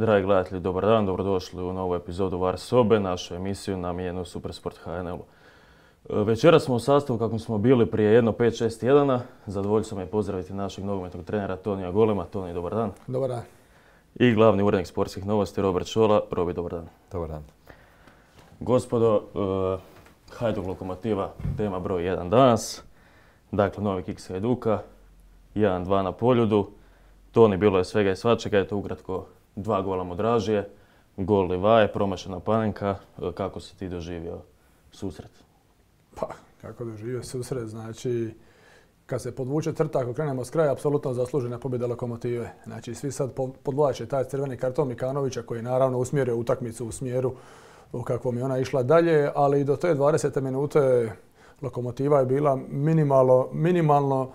Dragi gledatelji, dobar dan, dobrodošli u novu epizodu VAR sobe, našu emisiju namijenjenu Supersport HNL-u. Večeras smo u sastavu kako smo bili prije jedno 5-6 tjedana. Zadovoljstvo mi je pozdraviti našeg nogometnog trenera Tonija Golema. Toni, dobar dan. Dobar dan. I glavni urednik sportskih novosti Robert Šola. Robi, dobar dan. Dobar dan. Gospodo, Hajduk Lokomotiva, tema broj 1 danas. Dakle, novi kiks Hajduka, 1-2 na Poljudu. Toni, bilo je svega i svačega, eto ukratko 2 gola Modražije, gol Livaje, promašena Panenka. Kako si ti doživio susret? Pa, kako doživio susret, znači kad se podvuče crta, ako krenemo s kraja, apsolutno zaslužena pobjeda Lokomotive. Znači svi sad podvlače taj crveni karton Mikanovića koji je naravno usmjerio utakmicu u smjeru u kakvom je ona išla dalje, ali do te 20. minute Lokomotiva je bila minimalno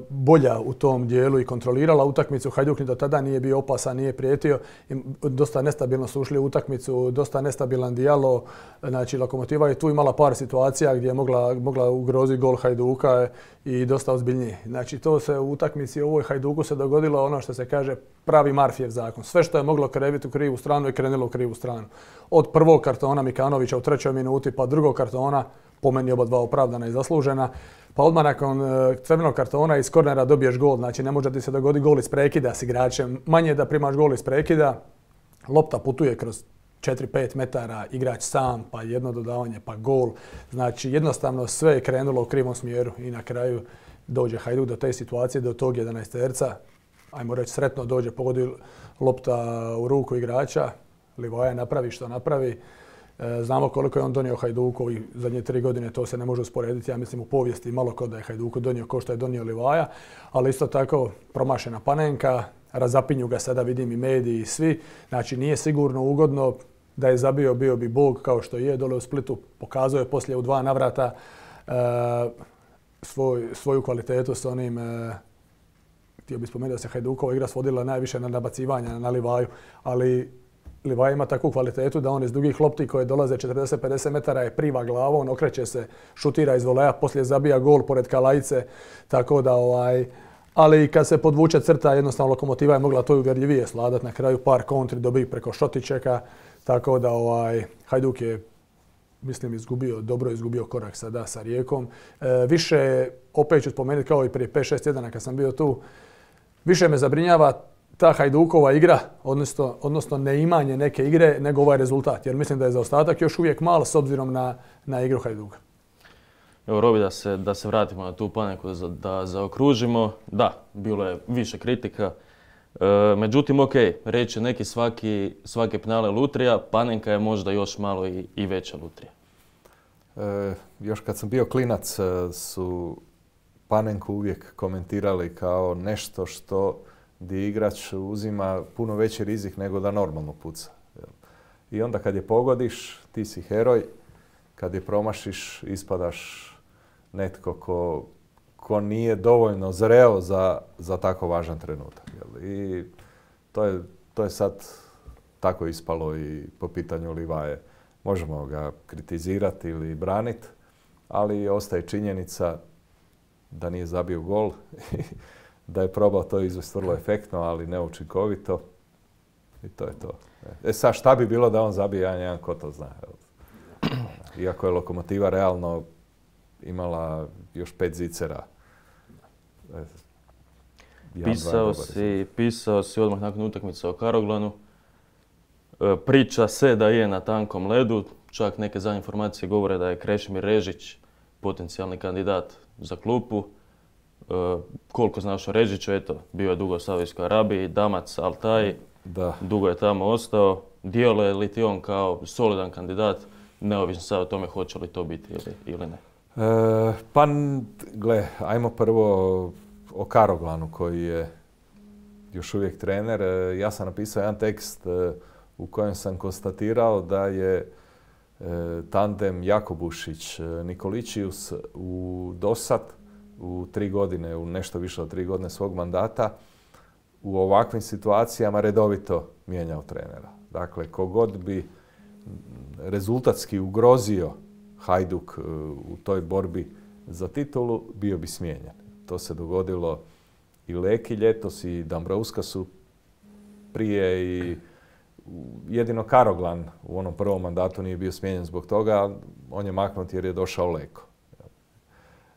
bolja u tom dijelu i kontrolirala utakmicu. Hajduk ni do tada nije bio opasan, nije prijetio. Dosta nestabilno su ušli u utakmicu, dosta nestabilan dijalo. Znači, Lokomotiva je tu imala par situacija gdje je mogla ugroziti gol Hajduka i dosta ozbiljnije. Znači, to se u utakmici ovoj Hajduku se dogodilo ono što se kaže pravi Marfijev zakon. Sve što je moglo kreviti u krivu stranu je krenulo u krivu stranu. Od prvog kartona Mikanovića u 3. minuti pa drugog kartona, po meni oba dva opravdana i zaslužena. Pa odmah nakon crvenog kartona iz kornera dobiješ gol. Znači ne može ti se dogoditi gol iz prekida s igračem. Manje da primaš gol iz prekida. Lopta putuje kroz 4-5 metara, igrač sam, pa jedno dodavanje, pa gol. Znači jednostavno sve je krenulo u krivom smjeru i na kraju dođe Hajduk do te situacije, do tog 11-terca. Ajmo reći sretno dođe, pogodi lopta u ruku igrača. Livaja napravi što napravi. Znamo koliko je on donio Hajduku ovih zadnje 3 godine, to se ne može usporediti. Ja mislim u povijesti malo ko da je Hajduku donio ko što je donio Livaja, ali isto tako promašena Panenka, razapinju ga sada vidim i mediji i svi. Znači nije sigurno ugodno da je zabio, bio bi Bog kao što je dole u Splitu. Pokazao je poslije u 2 navrata svoju kvalitetu s onim. Htio bih spomenuti da se Hajdukova igra svodila najviše na nabacivanja na Livaju, ali Livaja ima takvu kvalitetu da on iz dugih lopti koje dolaze 40-50 metara je priva glavom, okreće se, šutira iz voleja, poslije zabija gol pored Kalajice, tako da ali kad se podvuče crta, jednostavno Lokomotiva je mogla to uvjerljivije sladati. Na kraju par kontri dobi preko Šotičeka, tako da Hajduk je, mislim, dobro izgubio korak sada sa Rijekom. Više, opet ću spomenuti kao i prije 5-6 tjedana kad sam bio tu, više me zabrinjava ta Hajdukova igra, odnosno neimanje neke igre, nego ovaj rezultat. Jer mislim da je zaostatak još uvijek mal s obzirom na igru Hajduka. Evo, Robi, da se vratimo na tu Panenku, da zaokružimo. Da, bilo je više kritika. Međutim, ok, reći neki svaki penale lutrija, Panenka je možda još malo i veća lutrija. Još kad sam bio klinac su Panenku uvijek komentirali kao nešto što gdje igrač uzima puno veći rizik nego da normalno puca. I onda kad je pogodiš, ti si heroj. Kad je promašiš, ispadaš netko ko nije dovoljno zreo za tako važan trenutak. I to je sad tako ispalo i po pitanju Livaje. Možemo ga kritizirati ili braniti, ali ostaje činjenica da nije zabio gol. Da je probao to izvesti vrlo efektno, ali neučinkovito. I to je to. Sad šta bi bilo da on zabije 1-1, ko to zna? Iako je Lokomotiva realno imala još 5 zicera. Pisao si odmah nakon utakmice o Karoglanu. Priča se da je na tankom ledu. Čak neke zadnje informacije govore da je Krešimir Režić potencijalni kandidat za klupu. Koliko znaš o Režiću, eto, bio je dugo u Saudijskoj Arabiji, Damac, Altaj, dugo je tamo ostao. Djeluje li ti on kao solidan kandidat, neovisno sad o tome hoće li to biti ili ne? Pa, gle, ajmo prvo o Karoglanu koji je još uvijek trener. Ja sam napisao jedan tekst u kojem sam konstatirao da je tandem Jakobušić-Nikoličius dosad u 3 godine, u nešto više od 3 godine svog mandata, u ovakvim situacijama redovito mijenjao trenera. Dakle, kogod bi rezultatski ugrozio Hajduk u toj borbi za titulu, bio bi smijenjen. To se dogodilo i Leki ljetos i Dambrovskasu prije i jedino Karoglan u onom prvom mandatu nije bio smijenjen zbog toga, on je maknut jer je došao Leko.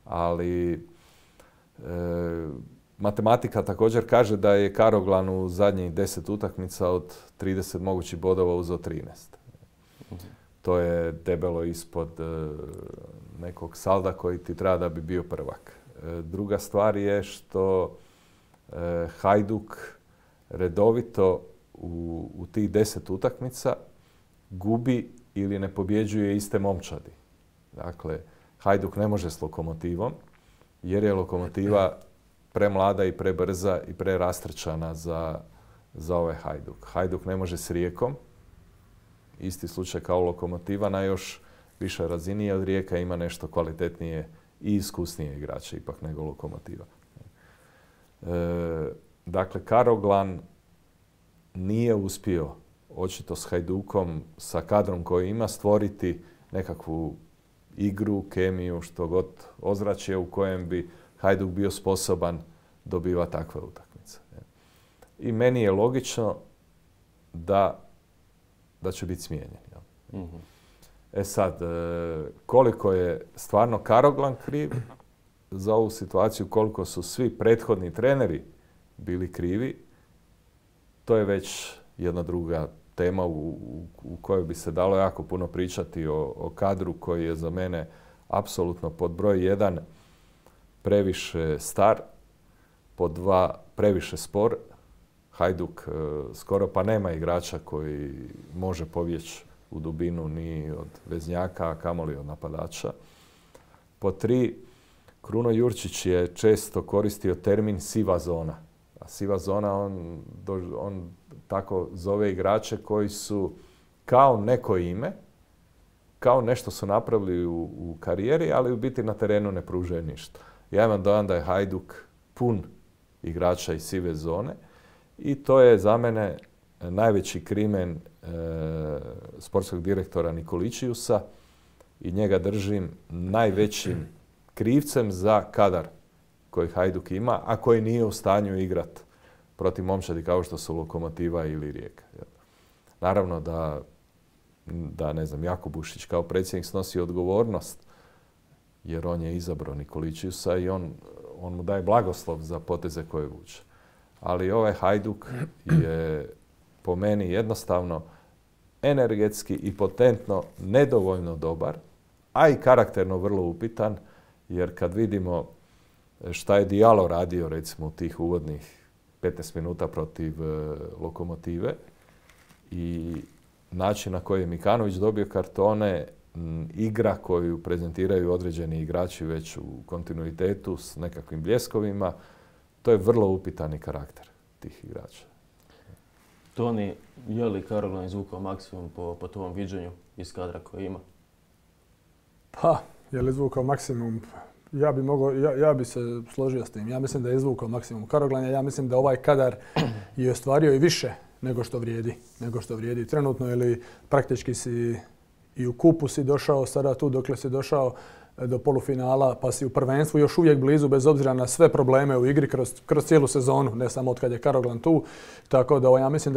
Ali matematika također kaže da je Karoglan u zadnjih 10 utakmica od 30 mogućih bodova uzeo 13. To je debelo ispod nekog salda koji ti treba da bi bio prvak. Druga stvar je što Hajduk redovito u tih 10 utakmica gubi ili ne pobjeđuje iste momčadi. Dakle, Hajduk ne može s Lokomotivom jer je Lokomotiva premlada i prebrza i prerastrčana za ovaj Hajduk. Hajduk ne može s Rijekom, isti slučaj kao Lokomotiva na još višoj razini, jer Rijeka ima nešto kvalitetnije i iskusnije igrače ipak nego Lokomotiva. Dakle, Karoglan nije uspio očito s Hajdukom, sa kadrom koji ima, stvoriti nekakvu igru, kemiju, što god ozračje u kojem bi Hajduk bio sposoban dobiva takve utakmice. I meni je logično da će biti smijenjen. Mm-hmm. E sad, koliko je stvarno Karoglan kriv za ovu situaciju, koliko su svi prethodni treneri bili krivi, to je već jedna druga tema u kojoj bi se dalo jako puno pričati o kadru koji je za mene apsolutno pod broj 1 previše star, pod 2 previše spor. Hajduk skoro pa nema igrača koji može pobjeći u dubinu ni od veznjaka, a kamoli od napadača. Pod 3, Kruno Jurčić je često koristio termin siva zona. A siva zona, on tako zove igrače koji su kao neko ime, kao nešto su napravili u karijeri, ali u biti na terenu ne pružaju ništa. Ja imam dojam da je Hajduk pun igrača iz sive zone i to je za mene najveći krimen sportskog direktora Nikoličiusa i njega držim najvećim krivcem za kadar koji Hajduk ima, a koji nije u stanju igrati protiv momčadi kao što su Lokomotiva ili Rijeka. Naravno da ne znam, Jakubušić kao predsjednik snosi odgovornost jer on je izabrao Nikoličiusa i on mu daje blagoslov za poteze koje vuče. Ali ovaj Hajduk je po meni jednostavno energetski i potentno nedovoljno dobar, a i karakterno vrlo upitan, jer kad vidimo šta je Diallo radio recimo u tih uvodnih 15 minuta protiv Lokomotive i način na koji je Mikanović dobio kartone, igra koju prezentiraju određeni igrači već u kontinuitetu s nekakvim bljeskovima, to je vrlo upitani karakter tih igrača. Toni, je li Karoglan izvukao maksimum po tom viđenju iz kadra koji ima? Pa, je li izvukao maksimum? Ja bi se složio s tim. Ja mislim da je izvukao maksimum Karoglanja. Ja mislim da ovaj kadar je ostvario i više nego što vrijedi trenutno, ili praktički si i u kupu si došao sada tu dokle si došao do polufinala, pa si u prvenstvu još uvijek blizu bez obzira na sve probleme u igri kroz cijelu sezonu, ne samo od kad je Karoglan tu. Tako da ja mislim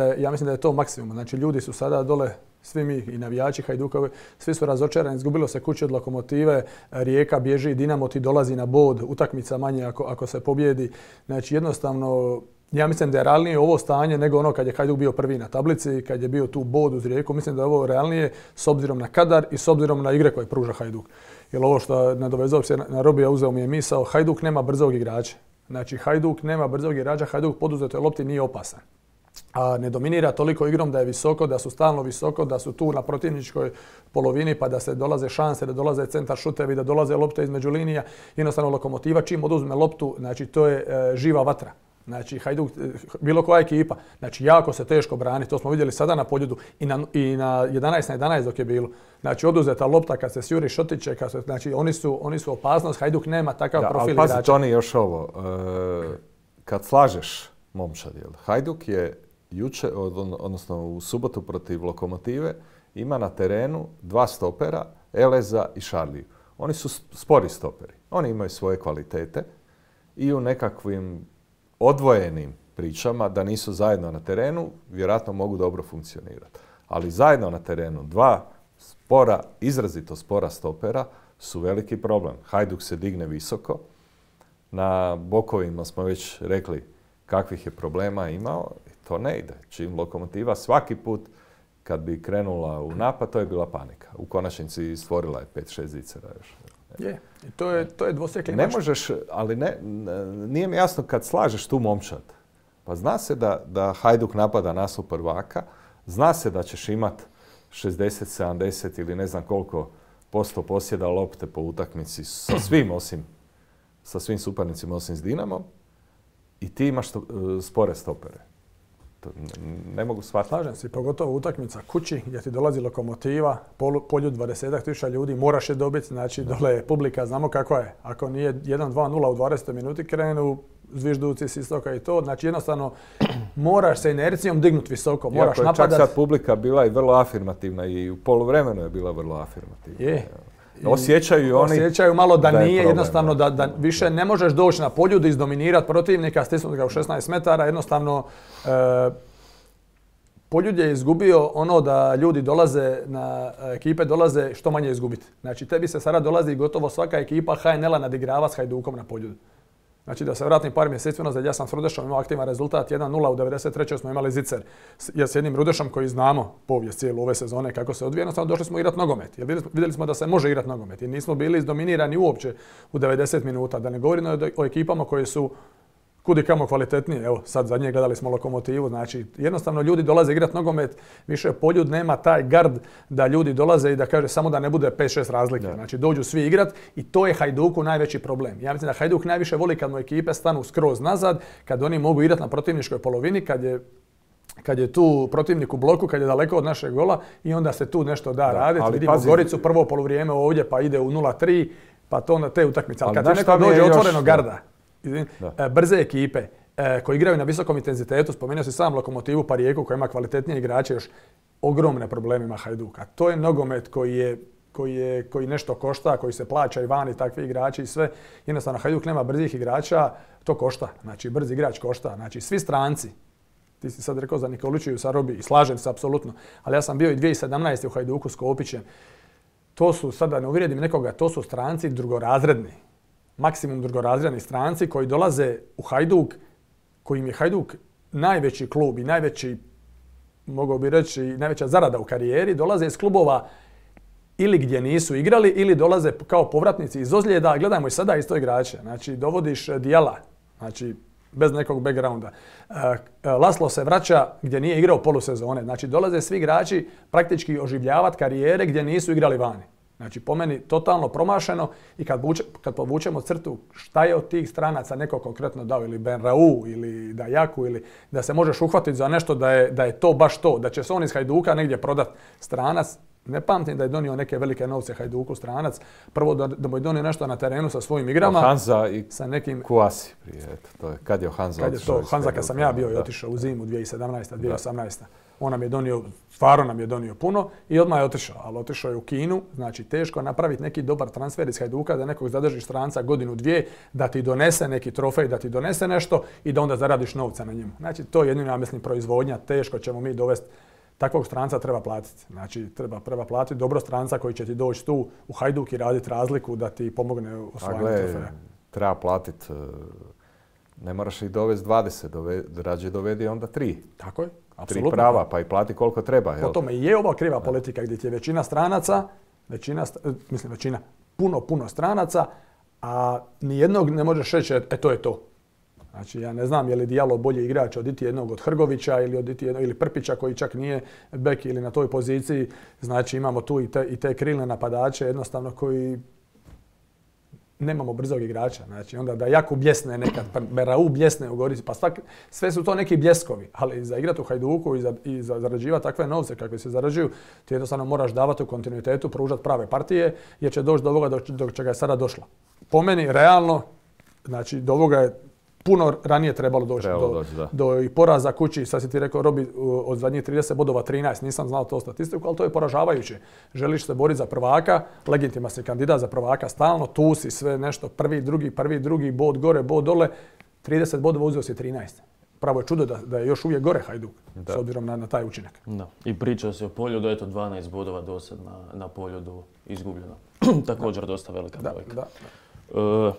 da je to maksimum. Znači ljudi su sada dole, svi mi i navijači Hajdukovi, svi su razočarani, izgubilo se kuće od Lokomotive, Rijeka bježi, Dinamo ti dolazi na bod, utakmica manje ako se pobjedi. Znači jednostavno, ja mislim da je realnije ovo stanje nego ono kad je Hajduk bio prvi na tablici, kad je bio tu bod uz Rijeku. Mislim da je ovo realnije s obzirom na kadar i s obzirom na igre koje pruža Hajduk. Jer ovo što nadovezao se na Robija, uzeo mi je misao, Hajduk nema brzog igrača. Znači Hajduk nema brzog igrača, Hajduk poduzetoj lopti nije opasan. A ne dominira toliko igrom da je visoko, da su stalno visoko, da su tu na protivničkoj polovini pa da se dolaze šanse, da dolaze centar šutevi, da dolaze lopte između linija. Jednostavno Lokomotiva čim oduzme loptu, znači to je živa vatra. Znači Hajduk, bilo koja ekipa, znači jako se teško brani, to smo vidjeli sada na Poljudu i na 11-11 dok je bilo. Znači oduzeta lopta kad se sjuri šotiće, znači oni su opasnost, Hajduk nema takav profil igrača. Ali pazi Toni još ovo, kad slažeš momčad, Hajduk je jučer, odnosno u subotu protiv Lokomotive, ima na terenu 2 stopera, Eleza i Šarliju. Oni su spori stoperi, oni imaju svoje kvalitete i u nekakvim odvojenim pričama, da nisu zajedno na terenu, vjerojatno mogu dobro funkcionirati. Ali zajedno na terenu, dva spora, izrazito spora stopera su veliki problem. Hajduk se digne visoko, na bokovima smo već rekli kakvih je problema imao, i to ne ide. Čim Lokomotiva svaki put kad bi krenula u napad, to je bila panika. U konačnici stvorila je 5-6 zicera još. Je, i to je dvosjekli Ne mač. možeš, ali nije mi jasno kad slažeš tu momčad. Pa zna se da Hajduk napada nastup prvaka, zna se da ćeš imat 60, 70 ili ne znam koliko posto posjeda lopte po utakmici sa svim suparnicima osim s Dinamom i ti imaš spore stopere. Ne mogu shvatiti. Slažem se, pogotovo utakmica kući gdje ti dolazi Lokomotiva, poljud 20.000 ljudi, moraš je dobiti, znači dole je publika, znamo kako je. Ako nije 1-2-0 u 20 minuti krenu, zvižduci s istoka i to, znači jednostavno moraš se inercijom dignuti visoko, moraš napadati. Iako je čak sad publika bila i vrlo afirmativna i u poluvremenu je bila vrlo afirmativna. Je. Osjećaju malo da nije problem, jednostavno da više ne možeš doći na poljud, izdominirati protivnika, stisnuti ga u 16 metara, jednostavno Poljud je izgubio ono da ljudi dolaze ekipe dolaze što manje izgubiti. Znači tebi se sada dolazi gotovo svaka ekipa HNL-a nadigrava s Hajdukom na Poljudu. Znači da se vratim par mjeseci unazad, ja sam s Rudešom imao aktivan rezultat 1-0, u 93. smo imali zicer. Ja s jednim Rudešom koji znamo povijest cijelu ove sezone kako se odvija, jednostavno došli smo igrati nogomet. Jer vidjeli smo da se može igrati nogomet i nismo bili izdominirani uopće u 90 minuta. Da ne govorimo o ekipama koje su kud i kamo kvalitetnije. Evo, sad zadnje gledali smo Lokomotivu, znači jednostavno ljudi dolaze igrati nogomet, više Poljud nema taj gard da ljudi dolaze i da kaže samo da ne bude 5-6 razlike. Da. Znači dođu svi igrat i to je Hajduku najveći problem. Ja mislim da Hajduk najviše voli kad mu ekipe stanu skroz nazad, kad oni mogu igrati na protivničkoj polovini, kad je tu protivnik u bloku, kad je daleko od našeg gola i onda se tu nešto da raditi. Vidimo Goricu prvo poluvrijeme ovdje pa ide u 0-3, pa to onda te utakmice. Ali kad ti neko dođe otvoreno garda, brze ekipe koji igraju na visokom intenzitetu, spomenuo si sam Lokomotivu pa Rijeku koja ima kvalitetnije igrače, još ogromne probleme ima Hajduka. To je nogomet koji nešto košta, koji se plaća i vani takvi igrači i sve. Jednostavno Hajduk nema brzih igrača, to košta. Znači brzi igrač košta. Znači svi stranci. Ti si sad rekao za Nikoliću i Sarobi i slažem se apsolutno. Ali ja sam bio i 2017. u Hajduku s Kopićem. To su, sad da ne uvrijedim nekoga, to su stranci drugorazredni. Maksimum drugorazredni stranci koji dolaze u Hajduk, kojim je Hajduk najveći klub i najveći, mogao bi reći, najveća zarada u karijeri, dolaze iz klubova ili gdje nisu igrali ili dolaze kao povratnici iz ozljeda. Gledajmo i sada isto igrače. Znači, dovodiš Dijala, znači bez nekog backgrounda. Laslo se vraća gdje nije igrao polusezone. Znači, dolaze svi igrači praktički oživljavati karijere gdje nisu igrali vani. Znači, po meni totalno promašeno i kad povučemo crtu šta je od tih stranaca neko konkretno dao, ili Benrau, ili Dajaku, ili da se možeš uhvatiti za nešto da je to baš to, da će se on iz Hajduka negdje prodat stranac. Ne pamtim da je donio neke velike novce Hajduku stranac. Prvo da mu je donio nešto na terenu sa svojim igrama. Hanza i sa nekim Kuasi prije. To je, kad je Hanza otišao? Hanza kad sam ja bio i otišao u zimu 2017. 2018. On nam je donio, stvarno nam je donio puno i odmah je otišao. Ali otišao je u Kinu, znači teško napraviti neki dobar transfer iz Hajduka, da nekog zadržiš stranca godinu, dvije, da ti donese neki trofej, da ti donese nešto i da onda zaradiš novca na njemu. Znači to je jedino, ja mislim, proizvodnja, teško ćemo mi dovesti. Takvog stranca treba platiti. Znači, treba platiti dobro stranca koji će ti doći tu u Hajduk i raditi razliku da ti pomogne u osvajanju trofeja. Treba platiti, ne moraš ih dovesti 20, rađe dovedi onda 3. Tako je, apsolutno. 3 prava, pa i plati koliko treba. Po tome i je ova kriva politika gdje ti je većina stranaca, puno stranaca, a nijednog ne možeš reći, to je to. Znači, ja ne znam je li Dijalo bolji igrač od jednog od Hrgovića ili Prpića koji čak nije bek ili na toj poziciji. Znači, imamo tu i te krilne napadače jednostavno koji nemamo brzog igrača. Znači, onda da Jakub bljesne nekad, Berau bljesne u Gorici, pa sve su to neki bljeskovi. Ali za igrati u Hajduku i za zarađivati takve novce kakve se zarađuju, ti jednostavno moraš davati u kontinuitetu, pružati prave partije, jer će doći do ovoga do čega je sada došlo. Po meni, realno, znači, do ovoga je puno ranije trebalo doći do i poraza kući. Sad si ti rekao, Robi, od zadnjih 30 bodova 13, nisam znao to statistiku, ali to je poražavajuće. Želiš se boriti za prvaka, legitiman si kandidat za prvaka stalno, tu si sve nešto, prvi, drugi, bod gore, bod dole, 30 bodova uzeo si 13. pravo je čudo da je još uvijek gore Hajduk, s obzirom na taj učinak. Da. I pričao se o Poljudu, eto 12 bodova dosad na Poljudu izgubljeno. Također dosta velika brojka.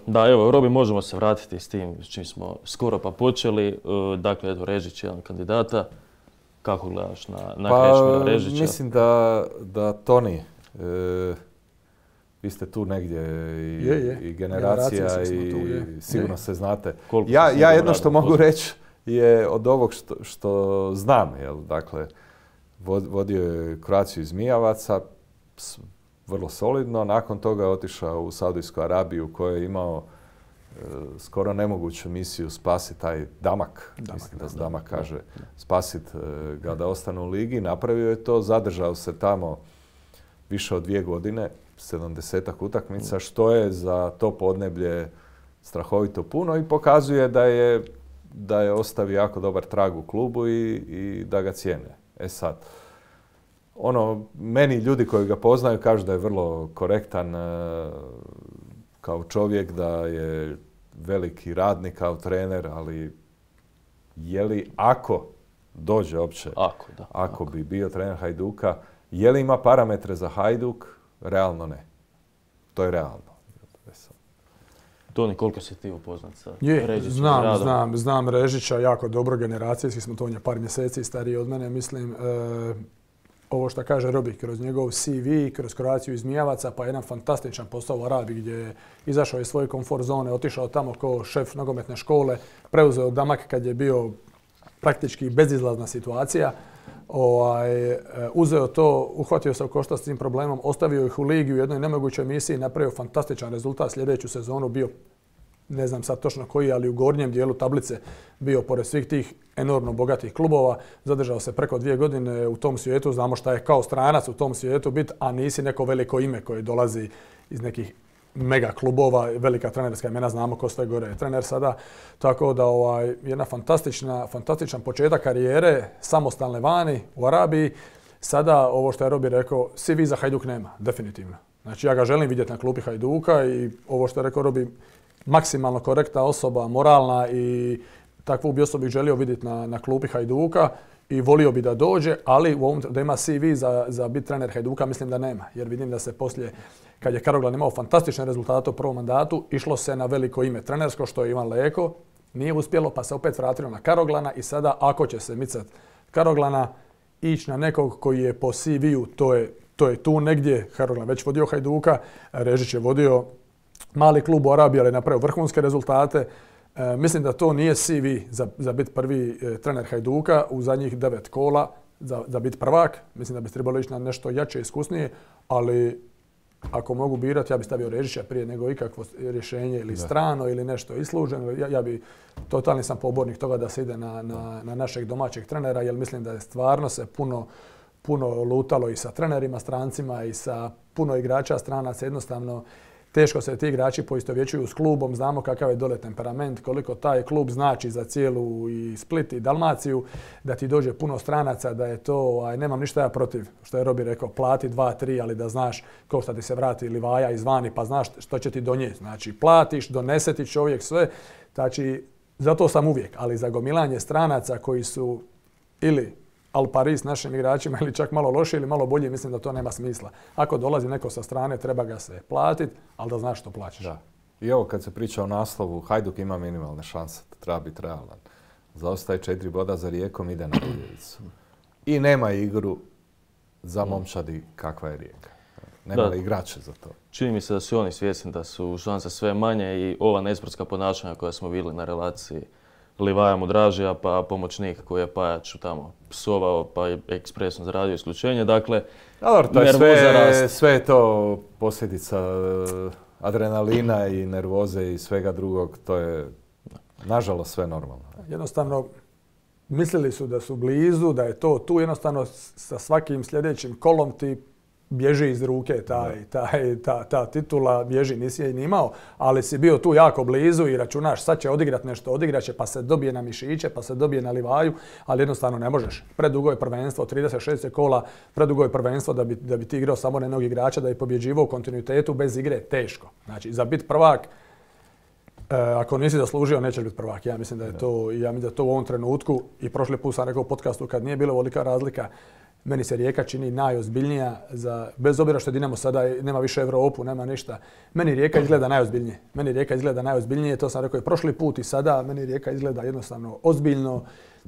Da, evo, Robi, možemo se vratiti s tim s čim smo skoro pa počeli. Dakle, eto, Režić je jedan kandidata. Kako gledaš na Krešimira Režića? Mislim da Toni, vi ste tu negdje i generacija i sigurno se znate. Ja jedno što mogu reći je od ovog što znam, dakle, vodio je Croatiu iz Mijavaca, vrlo solidno, nakon toga je otišao u Saudijsku Arabiju u kojoj je imao skoro nemoguću misiju spasiti taj Damak, mislim da se Damak kaže, spasiti ga da ostane u ligi. Napravio je to, zadržao se tamo više od 2 godine, 70-ak utakmica, što je za to podneblje strahovito puno i pokazuje da je ostavio jako dobar trag u klubu i da ga cijene. Sad, meni ljudi koji ga poznaju kažu da je vrlo korektan kao čovjek, da je veliki radnik kao trener, ali je li ako dođe uopće, ako bi bio trener Hajduka, je li ima parametre za Hajduk? Realno ne. To je realno. Toni, koliko si ti upoznat sa Režićem? Znam Režića jako dobro, generacijski smo, to on je par mjeseci stariji od mene, mislim. Ovo što kaže Robi, kroz njegov CV, kroz Croatiu iz Mijavaca, pa jedan fantastičan posao u Arabiji gdje je izašao iz svoje komfort zone, otišao tamo kao šef nogometne škole, preuzeo Damak kad je bio praktički bezizlazna situacija. Uzeo to, uhvatio se u koštac s tim problemom, ostavio ih u ligi u jednoj nemogućoj misiji, napravio fantastičan rezultat, sljedeću sezonu bio, ne znam sad točno koji, ali u gornjem dijelu tablice bio pored svih tih enormno bogatih klubova, zadržao se preko 2 godine u tom svijetu, znamo šta je kao stranac u tom svijetu biti, a nisi neko veliko ime koje dolazi iz nekih mega klubova, velika trenerska imena, znamo ko sve gore je trener sada. Tako da jedna fantastičan početak karijere, samostalne vani u Arabiji. Sada ovo što je Robi rekao, CV za Hajduk nema, definitivno. Znači ja ga želim vidjeti na klupi Hajduka i ovo što je rekao Robi, maksimalno korektna osoba, moralna i takvu bi osobu želio vidjeti na klupi Hajduka i volio bi da dođe, ali da ima CV za biti trener Hajduka mislim da nema. Jer vidim da se poslije, kad je Karoglan imao fantastične rezultate u prvom mandatu, išlo se na veliko ime trenersko, što je Ivan Leko. Nije uspjelo, pa se opet vratilo na Karoglana i sada ako će se micati Karoglana, ići na nekog koji je po CV-u, to je tu negdje. Karoglan već vodio Hajduka, Režić je vodio mali klub u Arabiji, ali je napravio vrhunske rezultate. Mislim da to nije CV za biti prvi trener Hajduka u zadnjih 9 kola, za biti prvak. Mislim da bi trebalo ići na nešto jače, iskusnije, ali ako mogu birati, ja bih stavio Režića prije nego ikakvo rješenje ili strano ili nešto isluženo. Totalni sam pobornik toga da se ide na našeg domaćeg trenera, jer mislim da je stvarno se puno lutalo i sa trenerima, strancima i sa puno igrača stranaca. Jednostavno, teško se ti igrači poistovjećuju s klubom, znamo kakav je dole temperament, koliko taj klub znači za cijelu i Split i Dalmaciju, da ti dođe puno stranaca, da je to, nemam ništa ja protiv, što je Robi rekao, plati 2-3, ali da znaš ko šta ti se vrati Livaja izvani, pa znaš što će ti donijeti. Znači, platiš, donese ti čovjek sve, znači, zato sam uvijek, ali za gomilanje stranaca koji su ili al pari s našim igračima ili čak malo loši ili malo bolji, mislim da to nema smisla. Ako dolazi neko sa strane, treba ga se platiti, ali da znaš što plaćaš. Da. I ovo kad se priča o naslovu, Hajduk ima minimalne šanse, treba biti realan. Zaostaje 4 boda za Rijekom, ide na Buljevicu. I nema igru za momčadi kakva je Rijeka. Nema igrače za to. Čini mi se da su oni svjesni da su šanse sve manje i ova nesportska ponašanja koja smo vidjeli na relaciji Livaja Mudražija, pa pomoćnik koji je Pajaču tamo psovao, pa je ekspresno zaradio isključenje. Dakle, sve je to posljedica adrenalina i nervoze i svega drugog. To je, nažalost, sve normalno. Jednostavno, mislili su da su blizu, da je to tu. Jednostavno, sa svakim sljedećim kolom ti bježi iz ruke ta titula, bježi, nisi je ni imao, ali si bio tu jako blizu i računaš sad će odigrat nešto, odigrat će pa se dobije na mišiće, pa se dobije na Livaju, ali jednostavno ne možeš. Predugo je prvenstvo, 36 kola, predugo je prvenstvo da bi ti igrao samo na jednog igrača, da bi pobjeđivao u kontinuitetu bez igre, teško. Znači, za biti prvak Ako nisi zaslužio, nećeš biti prvak. Ja mislim da je to u ovom trenutku, i prošli put sam rekao u podcastu kad nije bila ovolika razlika, meni se Rijeka čini najozbiljnija, bez obzira što je Dinamo sada nema više Europu, nema ništa. Meni Rijeka izgleda najozbiljnije. To sam rekao i prošli put i sada. Meni Rijeka izgleda jednostavno ozbiljno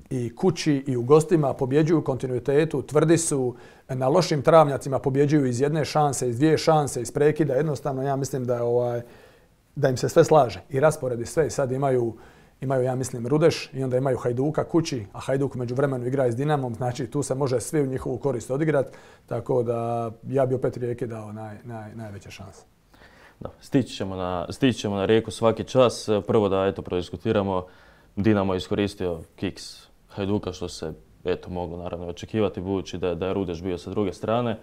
i kući i u gostima, pobjeđuju u kontinuitetu, tvrdi su, na lošim travnjacima pobjeđuju iz jedne šanse, iz dvije šanse, iz prekida. Jednostavno ja mislim da im se sve slaže i rasporedi sve i sad imaju ja mislim Rudeš i onda imaju Hajduka kući, a Hajduk u međuvremenu igra s Dinamom, znači tu se može svi u njihovu korist odigrati, tako da ja bi opet Rijeki dao najveće šanse. Da, stići ćemo na Rijeku svaki čas. Prvo da prodiskutiramo, Dinamo je iskoristio kiks Hajduka što se moglo naravno očekivati budući da je Rudeš bio sa druge strane.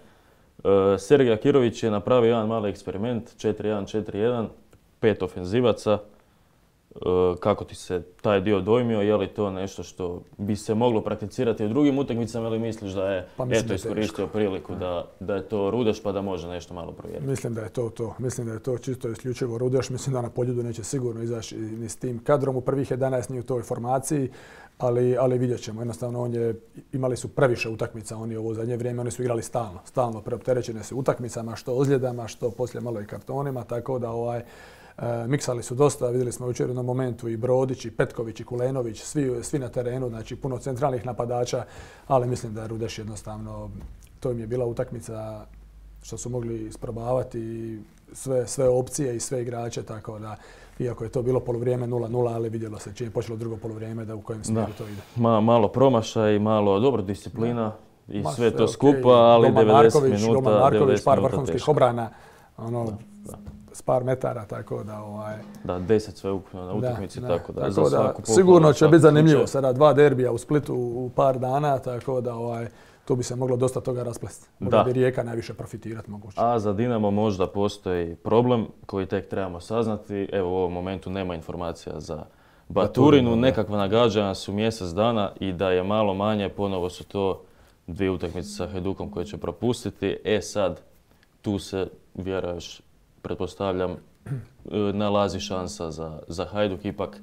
Sergej Akirović je napravio jedan mali eksperiment, 4-1-4-1, 5 ofenzivaca. Kako ti se taj dio dojmio, je li to nešto što bi se moglo prakticirati u drugim utakmicama ili misliš da je iskoristio priliku da je to Rudeš pa da može nešto malo provjeriti? Mislim da je to. Mislim da je to čisto isključivo Rudeš. Mislim da na Poljudu neće sigurno izaći ni s tim kadrom. U prvih 11 nije u toj formaciji, ali vidjet ćemo. Jednostavno imali su previše utakmica oni ovo zadnje vrijeme, oni su igrali stalno preopterećene su utakmicama, što ozljedama, što poslije malo i kartonima, tako da miksali su dosta, vidjeli smo jučer na momentu i Brodić, i Petković, i Kulenović, svi na terenu, znači puno centralnih napadača, ali mislim da je Rudeš jednostavno, to im je bila utakmica što su mogli isprobavati sve opcije i sve igrače, tako da iako je to bilo poluvrijeme 0-0, ali vidjelo se čim je počelo drugo poluvrijeme da u kojem smjeru to ide. Malo promašaj, malo dobro disciplina i sve to skupa, ali 90 minuta. Roman Marković, par vrhunskih obrana, s par metara, tako da... Da, 10 sve ukupno na utakmici, tako da za svaku pohvalu. Sigurno će biti zanimljivo sada 2 derbija u Splitu u par dana, tako da tu bi se moglo dosta toga rasplesti. Možda bi Rijeka najviše profitirati moguće. A za Dinamo možda postoji problem koji tek trebamo saznati. Evo u ovom momentu nema informacija za Baturinu. Nekakva nagađanja su mjesec dana i da je malo manje, ponovo su to 2 utakmice sa Hajdukom koje će propustiti. Sad, tu se vjeruješ, pretpostavljam, nalazi šansa za Hajduk. Ipak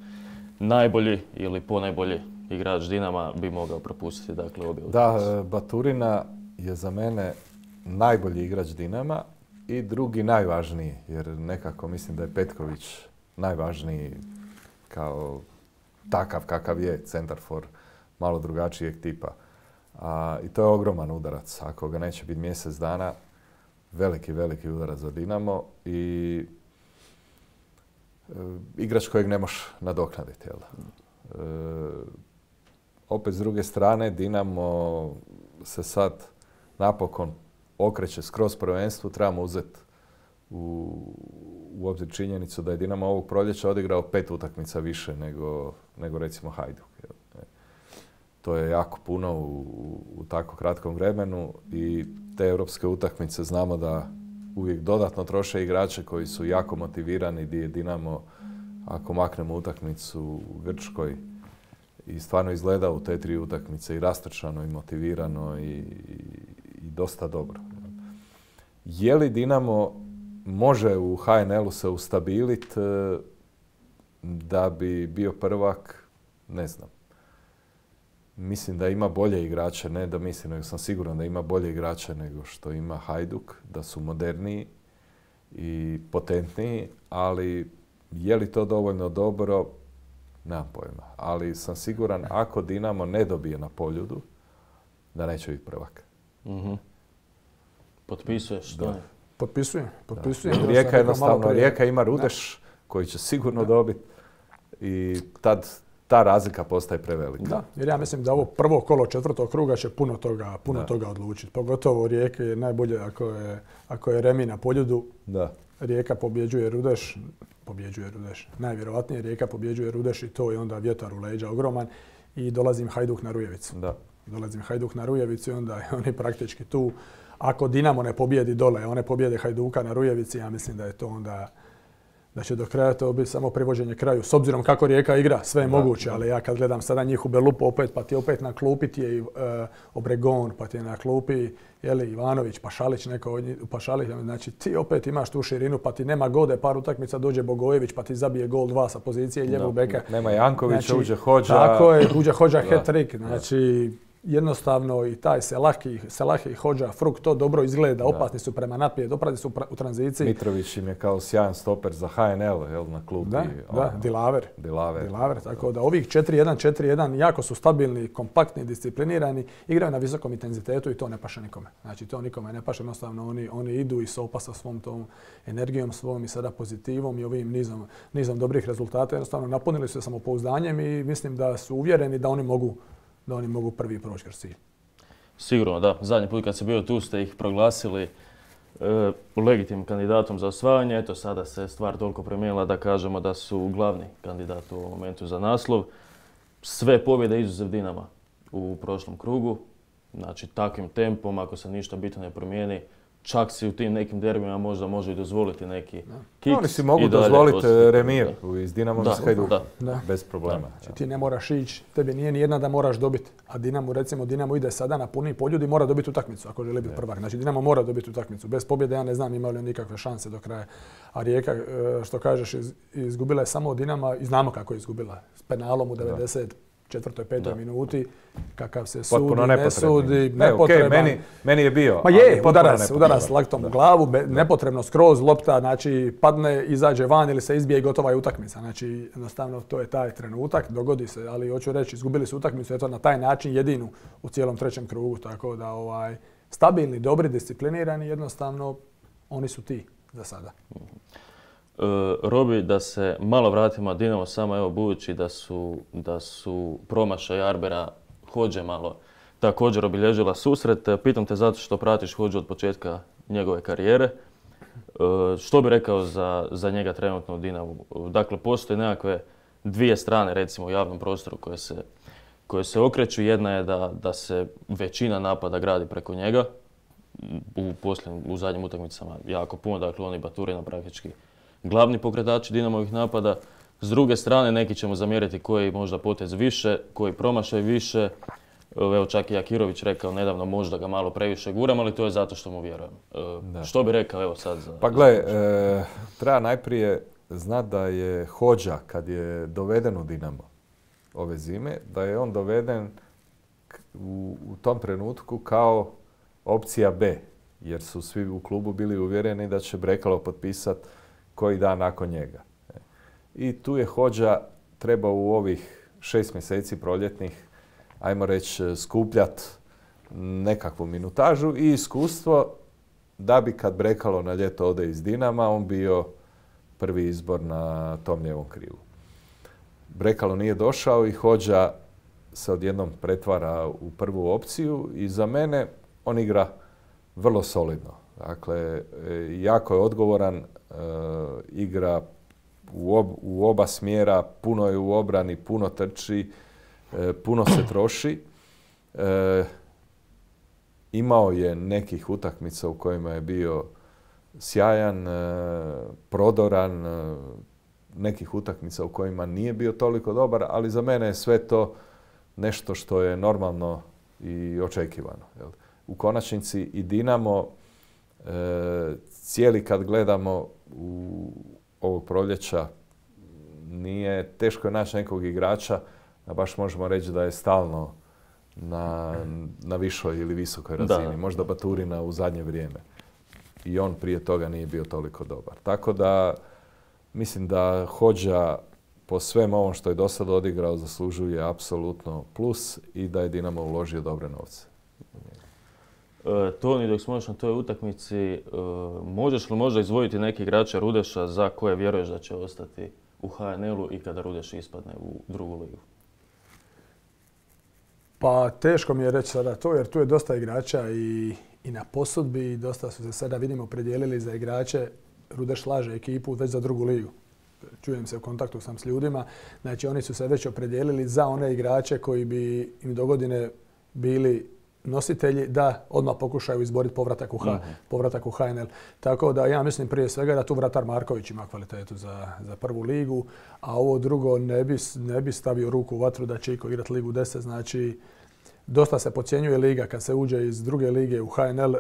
najbolji ili ponajbolji igrač Dinama bi mogao propustiti obje utakmice. Da, Baturina je za mene najbolji igrač Dinama i drugi najvažniji, jer nekako mislim da je Petković najvažniji kao takav kakav je centarfor malo drugačijeg tipa. I to je ogroman udarac. Ako ga neće biti mjesec dana, veliki udarac za Dinamo i igrač kojeg ne možeš nadoknaditi. Opet s druge strane, Dinamo se sad napokon okreće skroz prvenstvu. Trebamo uzeti u obzir činjenicu da je Dinamo ovog proljeća odigrao 5 utakmica više nego recimo Hajduk. To je jako puno u tako kratkom vremenu i te europske utakmice znamo da uvijek dodatno troše igrače koji su jako motivirani, gdje je Dinamo, ako maknemo utakmicu u Grčkoj, i stvarno izgleda u te 3 utakmice i rastrčano i motivirano i dosta dobro. Je li Dinamo može u HNL-u se ustabiliti da bi bio prvak? Ne znam. Mislim da ima bolje igrače, ne da mislim, nego sam siguran da ima bolje igrače nego što ima Hajduk, da su moderniji i potentniji, ali je li to dovoljno dobro? Nemam pojma, ali sam siguran ako Dinamo ne dobije na Poljudu, da neće biti prvak. Potpisuješ? Da. Potpisujem. Rijeka jednostavno, Rijeka ima Rudeš koji će sigurno dobiti i tad ta razlika postaje prevelika. Da, jer ja mislim da ovo prvo kolo 4. kruga će puno toga odlučiti. Pogotovo Rijeke je najbolje ako je remi na Poljudu. Da. Rijeka pobjeđuje Rudeš. Najvjerojatnije Rijeka pobjeđuje Rudeš i to je onda vjetar u leđa ogroman i dolazim Hajduk na Rujevicu. Da. Dolazim Hajduk na Rujevicu i onda oni praktički tu. Ako Dinamo ne pobjedi dole, one pobjede Hajduka na Rujevici, ja mislim da je to da će do kraja to biti samo privođenje kraju. S obzirom kako Rijeka igra, sve je moguće, ali ja kad gledam sada njih u Belupu opet, pa ti opet na klupi ti je Obregon, pa ti je na klupi Ivanović, Pašalić, Pašalić, znači ti opet imaš tu širinu, pa ti nema gode, par utakmica dođe Bogojević, pa ti zabije gol 2 sa pozicije ljevog beka. Nema Jankovića, znači, uđe Hodža. Tako je, uđe Hodža hat-trick, znači jednostavno i taj Selahi i Hodža, Fruk, to dobro izgleda, opasni su prema naprijed, opasni su u tranziciji. Mitrović im je kao sjajan stoper za HNL na klupi. Da, Dilaver. Tako da ovih 4-1 jako su stabilni, kompaktni, disciplinirani, igraju na visokom intenzitetu i to ne paše nikome. Znači to nikome ne paše, jednostavno oni idu i sopa sa svom tom energijom svom i sada pozitivom i ovim nizom dobrih rezultata. Jednostavno napunili su se samopouzdanjem i mislim da su uvjereni da oni mogu prvi proći kroz cilj. Sigurno, da. Zadnji put kad se bio tu ste ih proglasili legitimnim kandidatom za osvajanje. Eto, sada se stvar toliko promijenila da kažemo da su glavni kandidat u ovom momentu za naslov. Sve pobjede izuzev Dinama u prošlom krugu. Znači, takvim tempom, ako se ništa bitno ne promijeni, čak si u tim nekim derbima možda može i dozvoliti neki kiks. Oni si mogu dozvoliti remir iz Dinamo iz Hajduka, bez problema. Znači, ti ne moraš ići, tebi nije nijedna da moraš dobiti. A Dinamo ide sada na puni poljud i mora dobiti utakmicu ako želi biti prvak. Znači Dinamo mora dobiti utakmicu. Bez pobjede ja ne znam imali li nikakve šanse do kraja. A Rijeka, što kažeš, izgubila je samo od Dinama i znamo kako je izgubila. S penalom u 94. 5. minuti, kakav se sudi, ne sudi, nepotreban. Meni je bio. Ma je, udarac laktom u glavu, nepotrebno skroz, lopta, znači padne, izađe van ili se izbije i gotova je utakmica. Znači, jednostavno to je taj trenutak, dogodi se, ali hoću reći, izgubili su utakmicu, eto na taj način jedinu u cijelom trećem krugu, tako da stabilni, dobri, disciplinirani, jednostavno oni su ti za sada. Robi, da se malo vratimo na Dinamo, samo evo budući da su promašaj Arbera Hodže malo također obilježila susret. Pitam te zato što pratiš Hodžu od početka njegove karijere. Što bi rekao za njega trenutno u Dinamu? Dakle, postoje nekakve dvije strane recimo u javnom prostoru koje se okreću. Jedna je da se većina napada gradi preko njega. U zadnjim utakmicama jako puno, dakle on i Baturina praktički glavni pokretači Dinamovih napada. S druge strane, neki ćemo zamjeriti koji možda potez više, koji promašaj više. Evo čak i Jakirović rekao nedavno možda ga malo previše guram, ali to je zato što mu vjerujem. Što bi rekao evo sad za... Pa gle, treba najprije znati da je Hodža kad je doveden u Dinamo ove zime, da je on doveden u tom trenutku kao opcija B, jer su svi u klubu bili uvjereni da će Brekalo potpisati koji dan nakon njega. I tu je Hodža trebao u ovih 6 mjeseci proljetnih, ajmo reći, skupljati nekakvu minutažu i iskustvo da bi kad Brekalo na ljeto ode iz Dinama, on bio prvi izbor na tom lijevom krilu. Brekalo nije došao i Hodža se odjednom pretvara u prvu opciju i za mene on igra vrlo solidno. Dakle, jako je odgovoran, igra u oba smjera, puno je u obrani, puno trči, puno se troši. Imao je nekih utakmica u kojima je bio sjajan, prodoran, nekih utakmica u kojima nije bio toliko dobar, ali za mene je sve to nešto što je normalno i očekivano. U konačnici i Dinamo cijeli kad gledamo u ovog proljeća nije teško naći nekog igrača da baš možemo reći da je stalno na višoj ili visokoj razini. Da. Možda Baturina u zadnje vrijeme. I on prije toga nije bio toliko dobar. Tako da mislim da Hodža po svem ovom što je do sada odigrao zaslužuje apsolutno plus i da je Dinamo uložio dobre novce. Toni, dok smo još na toj utakmici, možeš li možda izdvojiti neki igrača Rudeša za koje vjeruješ da će ostati u HNL-u i kada Rudeš ispadne u drugu ligu? Pa teško mi je reći sada to, jer tu je dosta igrača i na posudbi, dosta su se sada, vidimo, predijelili za igrače. Rudeš slaže ekipu već za drugu ligu. Čujem se, u kontaktu sam s ljudima. Znači, oni su se već opredijelili za one igrače koji bi im dogodine bili nositelji da odmah pokušaju izboriti povratak u HNL. Tako da ja mislim prije svega da tu vratar Marković ima kvalitetu za prvu ligu, a ovo drugo ne bi stavio ruku u vatru da će iko igrati ligu 10. Znači, dosta se podcjenjuje liga kad se uđe iz druge lige u HNL,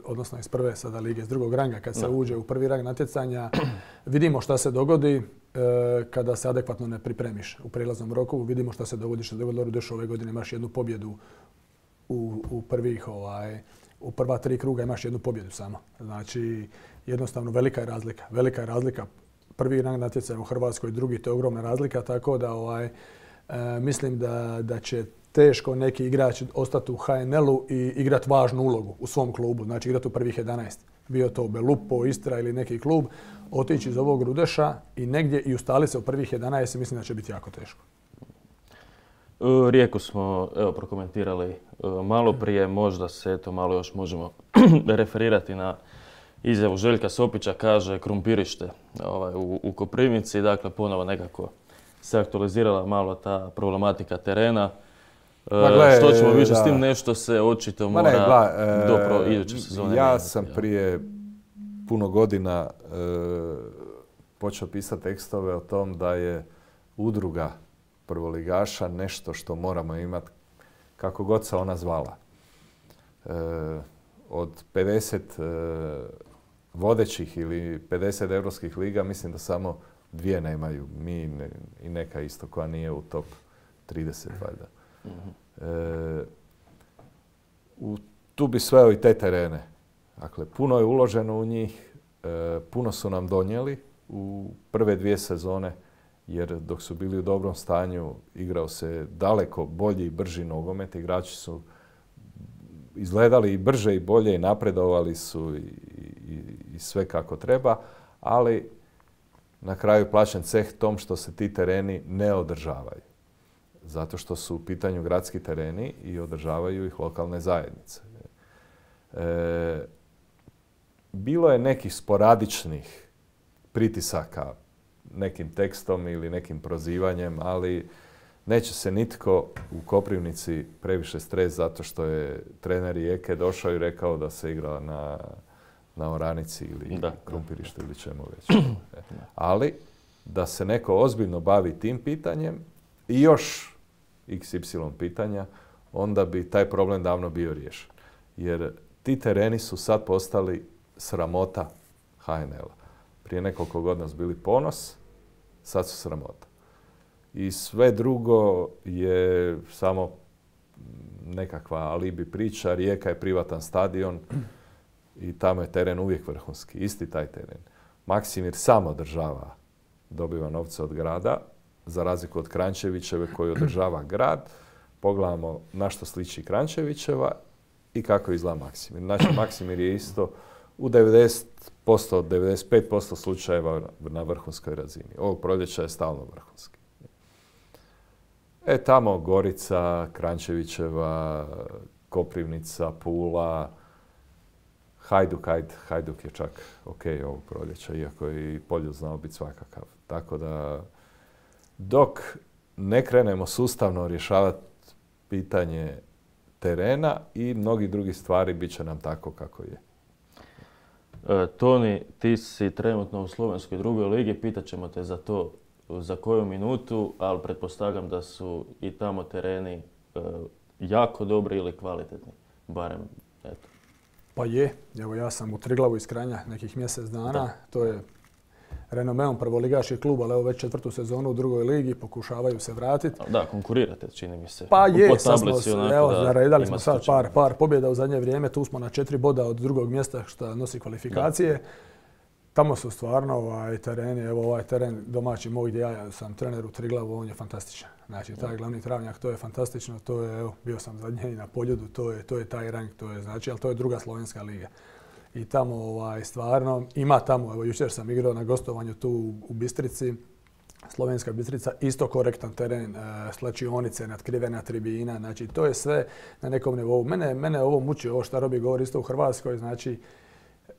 odnosno iz prve sada lige, iz drugog ranga, kad se uđe u prvi rang natjecanja, vidimo šta se dogodi kada se adekvatno ne pripremiš u prijelaznom roku. Vidimo šta se dogodi, što se dogodilo Rudešu ove godine, imaš jednu pobjedu u prva 3 kruga imaš jednu pobjedu samo. Znači, jednostavno velika je razlika. Prvi rang natjecanja u Hrvatskoj, drugi, to je ogromna razlika, tako da mislim da će teško neki igrač ostati u HNL-u i igrati važnu ulogu u svom klubu, znači igrati u prvih 11. Bio to Belupo, Istra ili neki klub, otići iz ovog Rudeša i negdje i ustali se u prvih 11 i mislim da će biti jako teško. Rijeku smo prokomentirali malo prije, možda se malo još možemo referirati na izjavu Željka Sopića, kaže krumpirište u Koprivnici, dakle ponovo nekako se aktualizirala malo ta problematika terena. Što ćemo više s tim, nešto se očito mora do iduće sezone. Ja sam prije puno godina počeo pisati tekstove o tom da je udruga prvoligaša nešto što moramo imati kako god se ona zvala. Od 50 vodećih ili 50 europskih liga mislim da samo 2 nemaju. Mi i neka isto koja nije u top 30 valjda. Tu bi sveo i te terene. Dakle, puno je uloženo u njih, puno su nam donijeli u prve 2 sezone, jer dok su bili u dobrom stanju igrao se daleko bolji i brži nogomet. Igrači su izgledali i brže i bolje i napredovali su i sve kako treba, ali na kraju plaćen ceh tom što se ti tereni ne održavaju. Zato što su u pitanju gradski tereni i održavaju ih lokalne zajednice. Bilo je nekih sporadičnih pritisaka nekim tekstom ili nekim prozivanjem, ali neće se nitko u Koprivnici previše stres zato što je trener Rijeke došao i rekao da se igra na oranici ili krumpirištu ili čemu već. Ali da se neko ozbiljno bavi tim pitanjem i još XY pitanja, onda bi taj problem davno bio riješen. Jer ti tereni su sad postali sramota HNL-a. Prije nekoliko godina su bili ponos, sad su sramota. I sve drugo je samo nekakva alibi priča. Rijeka je privatan stadion i tamo je teren uvijek vrhunski. Isti taj teren. Maksimir sam održava, dobiva novce od grada, za razliku od Kranjčevićeve koji održava grad. Pogledamo na što sliči Kranjčevićeva i kako izgleda Maksimir. Znači, Maksimir je isto u 90%, 95% slučajeva na vrhunskoj razini. Ovog proljeća je stalno vrhunski. Tamo Gorica, Kranjčevićeva, Koprivnica, Pula, Hajduk je čak ok ovog proljeća, iako je i Poljud znao biti svakakav. Tako da, dok ne krenemo sustavno rješavati pitanje terena i mnogi drugi stvari, bit će nam tako kako je. Toni, ti si trenutno u Slovenskoj drugoj ligi, pitat ćemo te za to za koju minutu, ali pretpostavljam da su i tamo tereni jako dobri ili kvalitetni, barem eto. Pa je, evo ja sam u Triglavu iz Kranja nekih mjesec dana, to je renomeom prvoligaški klub, ali evo već 4. sezonu u drugoj ligi, pokušavaju se vratiti. Da, konkurirate, čini mi se. Pa je, naredali smo sad par pobjeda u zadnje vrijeme, tu smo na 4 boda od drugog mjesta što nosi kvalifikacije. Tamo su stvarno tereni, evo ovaj teren domaći moj gdje ja sam trener u Triglavu, on je fantastičan. Znači, taj glavni travnjak, to je fantastično, to je, evo, bio sam zadnje i na Poljudu, to je taj rang, to je znači, ali to je druga slovenska liga. I tamo stvarno, ima tamo, evo jučer sam igrao na gostovanju tu u Bistrici, Slovenska Bistrica, isto korektan teren, slačionice, natkrivena tribina, znači to je sve na nekom nivou. Mene ovo muči, ovo što Robi govori isto u Hrvatskoj, znači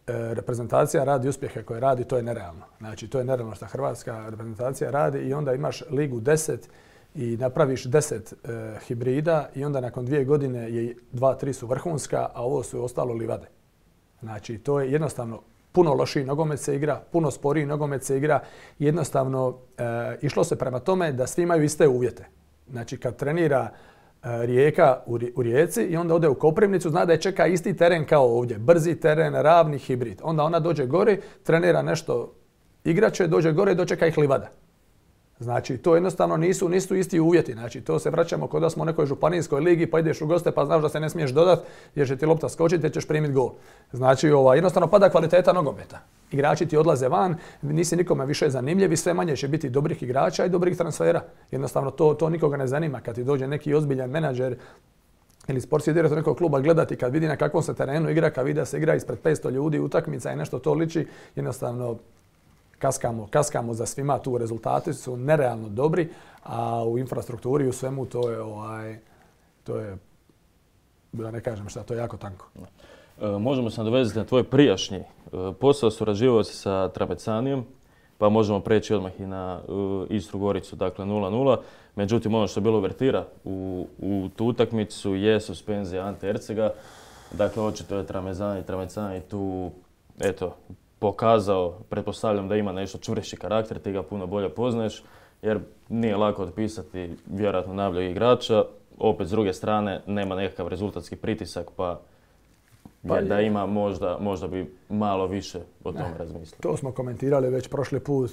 reprezentacija radi uspjehe koje radi, to je nerealno. Znači to je nerealno što hrvatska reprezentacija radi i onda imaš ligu 10 i napraviš 10 hibrida i onda nakon 2 godine je 2-3 su vrhunska, a ovo su ostalo livade. Znači, to je jednostavno puno lošiji nogomet se igra, puno sporiji nogomet se igra. Jednostavno, išlo se prema tome da svi imaju iste uvjete. Znači, kad trenira Rijeka u Rijeci i onda ode u Koprivnicu, zna da je čeka isti teren kao ovdje. Brzi teren, ravni hibrid. Onda ona dođe gore, trenira nešto igrače, dođe gore i dočeka ih livada. Znači, to jednostavno nisu isti uvjeti. Znači, to se vraćamo kod da smo u nekoj županijskoj ligi, pa ideš u goste pa znaš da se ne smiješ dodat jer će ti lopta skočiti jer ćeš primiti gol. Znači, jednostavno pada kvaliteta nogometa. Igrači ti odlaze van, nisi nikome više zanimljiv i sve manje će biti dobrih igrača i dobrih transfera. Jednostavno, to nikoga ne zanima. Kad ti dođe neki ozbiljan menadžer ili sportski direktor nekog kluba gledati kad vidi na kakvom se terenu igra, kad vidi da se igra ispred 500 ljudi, utakmica i nešto to liči, jednostavno kaskamo za svima, tu rezultati su nerealno dobri, a u infrastrukturi i u svemu to je, da ne kažem šta, to je jako tanko. Možemo se nadovezati na tvoj prijašnji posao, surađivao si sa Tramecanijom, pa možemo preći odmah i na Istru Goricu, dakle 0-0. Međutim, ono što je bilo uvertira u tu utakmicu je suspenzija Ante Ercega. Dakle, očito je Tramezzani tu, eto, pokazao, pretpostavljam da ima nešto čvršći karakter, ti ga puno bolje poznaješ, jer nije lako otpisati vjerojatno najboljeg igrača. Opet, s druge strane, nema nekakav rezultatski pritisak, pa da ima možda bi malo više o tome razmislio. To smo komentirali već prošli put.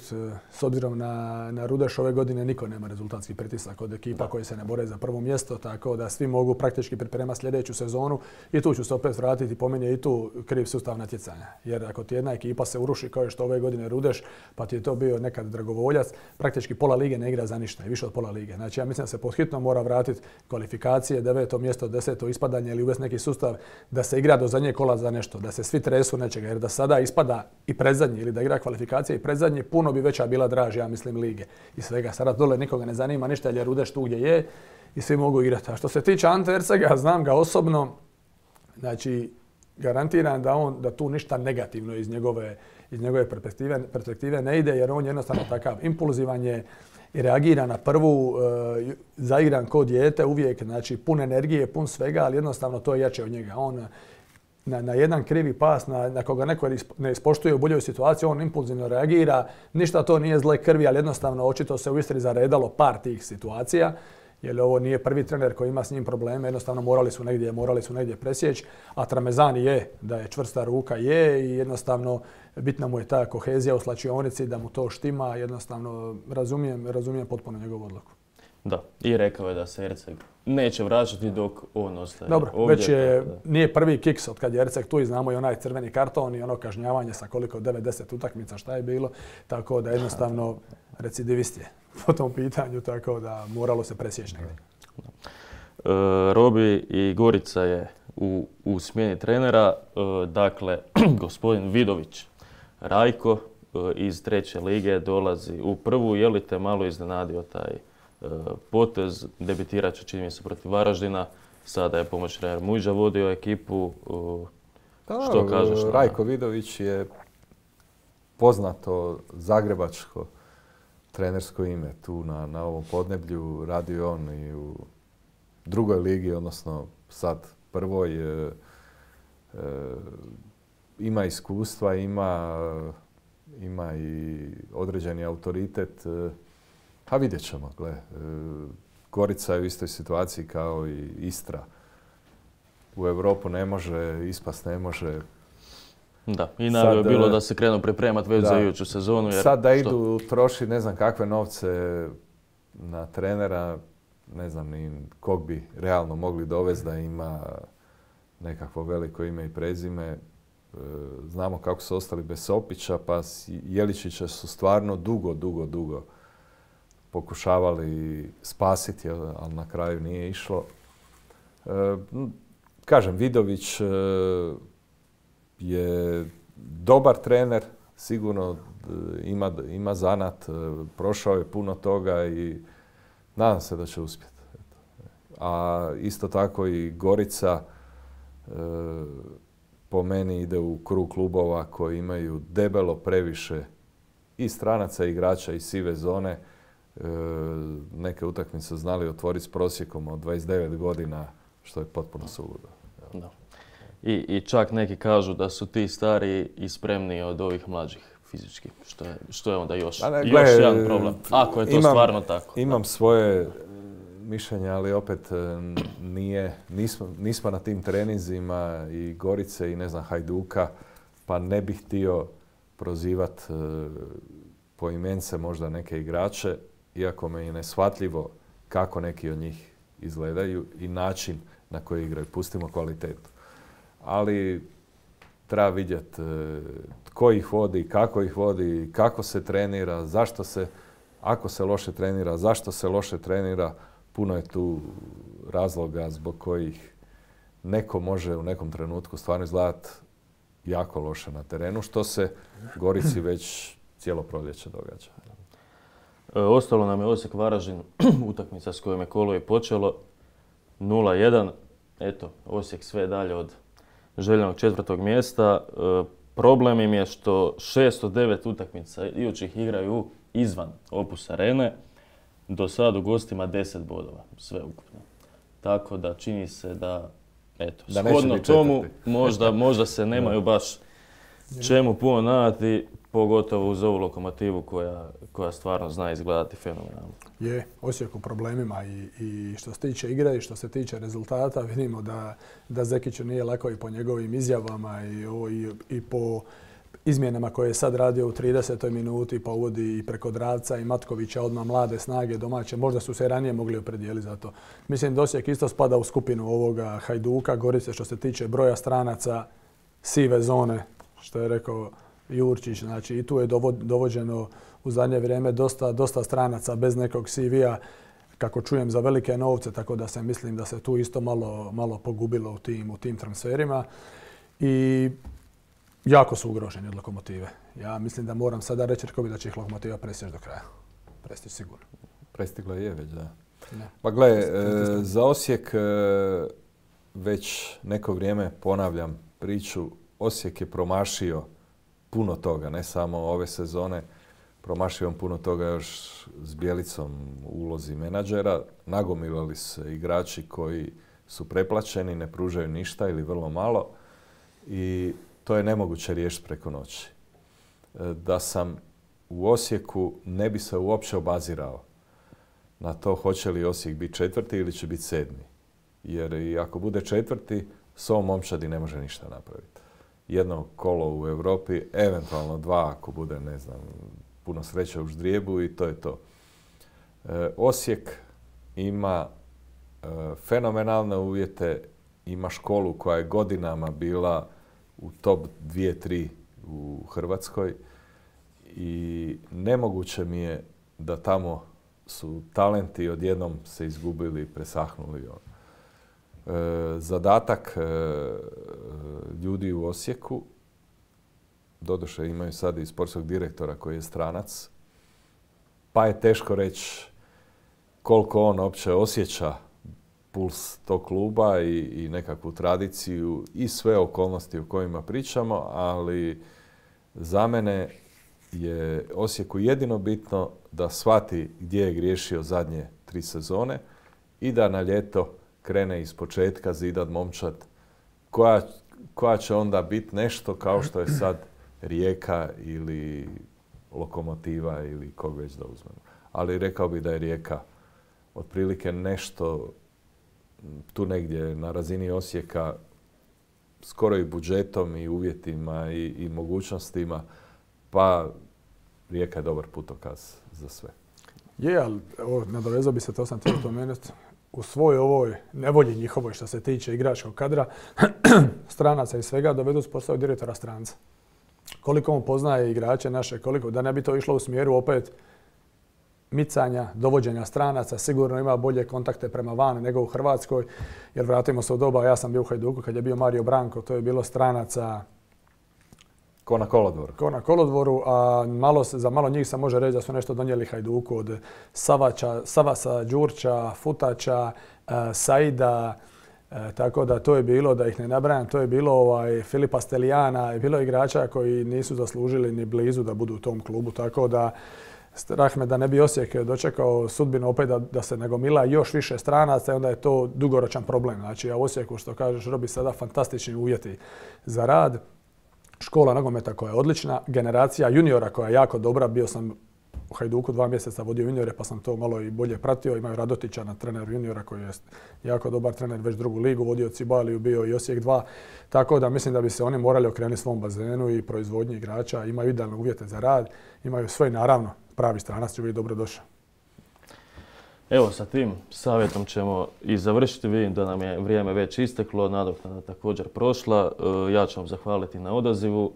S obzirom na Rudeš ove godine niko nema rezultatski pritisak od ekipa koje se ne bore za prvo mjesto, tako da svi mogu praktički pripremati sljedeću sezonu i tu ću se opet vratiti, po meni je i tu kriv sustav natjecanja. Jer ako ti jedna ekipa se uruši kao što ove godine Rudeš, pa ti je to bio nekad dragovoljac, praktički pola lige ne igra za ništa i više od pola lige. Znači ja mislim da se pod hitno mora vratiti kvalifikacije, 9. mjesto, 10. ispadanje ili uvesti neki sustav da se igra do zadnje kola za nešto, da se svi tresu nečega, jer da sada ispada i predzadnji ili da igra kvalifikacije i predzadnji, puno bi veća bila draž, ja mislim, lige i svega. Sada dole nikoga ne zanima ništa jer je Rudeš tu gdje je i svi mogu igrati. A što se tiče Ante Ercega, znam ga osobno, znači garantiram da tu ništa negativno iz njegove perspektive ne ide, jer on je jednostavno takav impulzivan je i reagira na prvu, zaigran ko dijete uvijek, znači pun energije, pun svega, ali jednostavno to je jače od njega. On na jedan krivi pas, na koga neko ne ispoštuje u boljoj situaciji, on impulzivno reagira. Ništa to nije zle krvi, ali jednostavno očito se u Istri zaredalo par tih situacija. Jer ovo nije prvi trener koji ima s njim probleme, jednostavno morali su negdje presjeći. A Tramezzani je, da je čvrsta ruka je i jednostavno bitna mu je ta kohezija u slačionici, da mu to štima. Jednostavno razumijem potpuno njegovu odluku. Da, i rekao je da se Erceg neće vraćati dok on ostaje. Dobro, već nije prvi kiks od kad je Erceg tu i znamo i onaj crveni karton i ono kažnjavanje sa koliko 9-10 utakmica šta je bilo. Tako da jednostavno recidivist je po tom pitanju, tako da moralo se presjeći negdje. Robi i Gorica je u smjeni trenera, dakle gospodin Vidović Rajko iz 3. lige dolazi u prvu. Je li te malo iznenadio taj potez? Debitirat će, čini mi se, protiv Varaždina. Sada je pomoćni trener Mujža vodio ekipu. Što kažeš? Rajko Vidović je poznato zagrebačko trenersko ime. Tu na ovom podneblju radio on i u drugoj ligi, odnosno sad prvoj. Ima iskustva, ima i određeni autoritet. A vidjet ćemo, gle. Gorica je u istoj situaciji kao i Istra. U Europu ne može, ispast ne može. Da, i najbolje je bilo da se krenu pripremati već za iduću sezonu. Jer sad da idu troši ne znam kakve novce na trenera, ne znam ni kog bi realno mogli dovesti da ima nekakvo veliko ime i prezime. Znamo kako su ostali bez Sopića, pa Jeličića su stvarno dugo pokušavali spasiti, ali na kraju nije išlo. Kažem, Vidović je dobar trener, sigurno ima zanat, prošao je puno toga i nadam se da će uspjeti. A isto tako i Gorica po meni ide u krug klubova koji imaju debelo previše i stranaca, igrača i sive zone. neke utakmice znali otvoriti s prosjekom od 29 godina, što je potpuno suludo. Da. I čak neki kažu da su ti stariji i spremniji od ovih mlađih fizički, što je onda još jedan problem, ako je to stvarno tako. Imam svoje mišljenje, ali opet nismo na tim treninzima i Gorice i ne znam Hajduka, pa ne bih htio prozivati poimence možda neke igrače, iako me je neshvatljivo kako neki od njih izgledaju i način na koji igraju. Pustimo kvalitetu. Ali treba vidjeti tko ih vodi, kako se trenira, zašto se, ako se loše trenira, zašto se loše trenira. Puno je tu razloga zbog kojih neko može u nekom trenutku stvarno izgledati jako loše na terenu, što se Gorici već cijelo proljeće događa. Ostalo nam je Osijek Varaždin, utakmica s kojom je kolo i počelo, 0-1. Eto, Osijek sve dalje od željenog 4. mjesta. Problem im je što 6 od 9 utakmica idućih igraju izvan Opus Arene. Do sad u gostima 10 bodova, sve ukupno. Tako da čini se da, eto, shodno tomu možda se nemaju baš čemu puno nadati, pogotovo uz ovu Lokomotivu koja stvarno zna izgledati fenomenalno. Je, Osijek u problemima i što se tiče igre i što se tiče rezultata. Vidimo da Zekiću nije lako i po njegovim izjavama i po izmjenama koje je sad radio u 30. minuti, pa uvodi i preko Dravca i Matkovića, odmah mlade snage domaće. Možda su se ranije mogli opredijeliti za to. Mislim da Osijek isto spada u skupinu ovoga Hajduka, Gorice što se tiče broja stranaca, sive zone, što je rekao Jurčić. Znači i tu je dovođeno u zadnje vrijeme dosta stranaca bez nekog CV-a, kako čujem, za velike novce, tako da se mislim da se tu isto malo pogubilo u tim transferima. I jako su ugroženi od Lokomotive. Ja mislim da moram sada reći Rkovi da će ih Lokomotiva presjeći do kraja. Prestići sigurno. Prestigla je već, da. Ne. Pa gle, za Osijek već neko vrijeme ponavljam priču. Osijek je promašio puno toga, ne samo ove sezone. Promašio on puno toga još s Bjelicom u ulozi menadžera. Nagomilali se igrači koji su preplaćeni, ne pružaju ništa ili vrlo malo. I to je nemoguće riješiti preko noći. Da sam u Osijeku ne bi se uopće obazirao na to hoće li Osijek biti 4. ili će biti 7. Jer i ako bude 4. s ovom momčadi ne može ništa napraviti. Jedno kolo u Europi, eventualno 2 ako bude, ne znam, puno sreće u ždrijebu i to je to. Osijek ima fenomenalne uvjete, ima školu koja je godinama bila u top 2-3 u Hrvatskoj i nemoguće mi je da tamo su talenti odjednom se izgubili, presahnuli. Zadatak ljudi u Osijeku, doduše imaju sad i sportskog direktora koji je stranac, pa je teško reći koliko on uopće osjeća puls tog kluba i nekakvu tradiciju i sve okolnosti o kojima pričamo, ali za mene je Osijeku jedino bitno da shvati gdje je griješio zadnje 3 sezone i da na ljeto krene iz početka zidat momčad koja će onda biti nešto kao što je sad Rijeka ili Lokomotiva ili kog već da uzmemo. Ali rekao bih da je Rijeka otprilike nešto tu negdje na razini Osijeka, skoro i budžetom i uvjetima i mogućnostima, pa Rijeka je dobar putokaz za sve. Je, ali nadovezao bi se, to sam htio spomenuti, u svoj ovoj nevolji njihovoj što se tiče igračkog kadra, stranaca i svega, dovedu s posao direktora stranca. Koliko on poznaje igrače naše, koliko, da ne bi to išlo u smjeru opet micanja, dovođenja stranaca, sigurno ima bolje kontakte prema van nego u Hrvatskoj, jer vratimo se u doba, ja sam bio u Hajduku kad je bio Mario Branko, to je bilo stranaca ko na kolodvoru. Ko na kolodvoru, a za malo njih se može reći da su nešto donijeli Hajduku od Savasa, Đurća, Futača, Saida, tako da to je bilo, da ih ne nabrajam, to je bilo Filipa Stelijana, je bilo igrača koji nisu zaslužili ni blizu da budu u tom klubu, tako da Strah me da ne bi Osijek dočekao sudbinu opet da se nagomila još više stranaca i onda je to dugoročan problem. Znači, a u Osijeku, što kažeš, Robi, sada fantastični uvjeti za rad. Škola nogometa koja je odlična, generacija juniora koja je jako dobra. Bio sam u Hajduku 2 mjeseca vodio juniore pa sam to malo i bolje pratio. Imaju Radotića na trener juniora koji je jako dobar trener, već drugu ligu, vodio Cibaliju, bio i Osijek 2. Tako da mislim da bi se oni morali okrenuti svom bazenu i proizvodnji igrača. Imaju idealne uvjete za rad, imaju sve naravno pravi stranac će biti dobro došao. Evo, sa tim savjetom ćemo i završiti. Vidim da nam je vrijeme već isteklo, nadoknada također prošla. Ja ću vam zahvaliti na odazivu,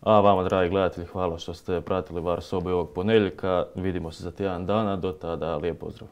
a vama, dragi gledatelji, hvala što ste pratili VAR sobu ovog ponedjeljka. Vidimo se za tjedan dana, do tada lijep pozdrav.